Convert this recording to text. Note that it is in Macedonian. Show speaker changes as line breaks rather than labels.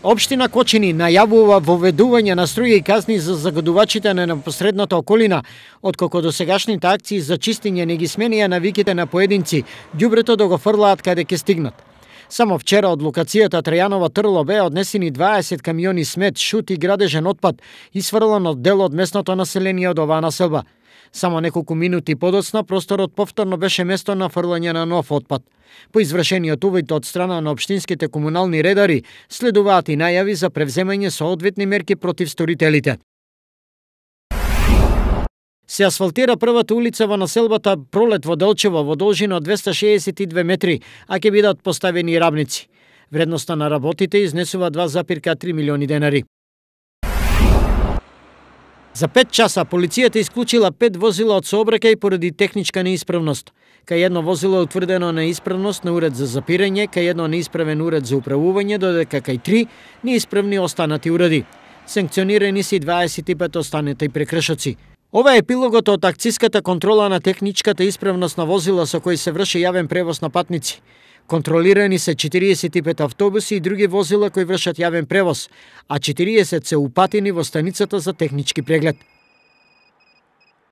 Општина Кочини најавува воведување на строги казни за загадувачите на непосредната околина, откако досегашните акции за чистење не ги сменија навиките на поединци, ѓубрето да го фрлаат каде ќе стигнат. Само вчера од локацијата Трајанова Трло беа однесени 20 камиони смет, шут и градежен отпад, исфрлан од дел од местното население од оваа населба. Само неколку минути подоцна просторот повторно беше место на фрлање на нов отпад. По извршениот увид од страна на општинските комунални редари, следуваат и најави за превземање соодветни мерки против сторителите. Се асфалтира првата улица во населбата Пролет во Делчево во должина од 262 метри, а ќе бидат поставени рабници. Вредноста на работите изнесува 2,3 милиони денари. За 5 часа полицијата исклучила 5 возила од сообраќај поради техничка неисправност. Кај едно возило е утврдено неисправност на уред за запирање, кај едно неисправен уред за управување, додека кај 3 неисправни останати уреди. Санкционирани се 25 останати прекршоци. Ова е епилогот од акциската контрола на техничката исправност на возила со кои се врши јавен превоз на патници. Контролирани се 45 автобуси и други возила кои вршат јавен превоз, а 40 се упатени во станицата за технички преглед.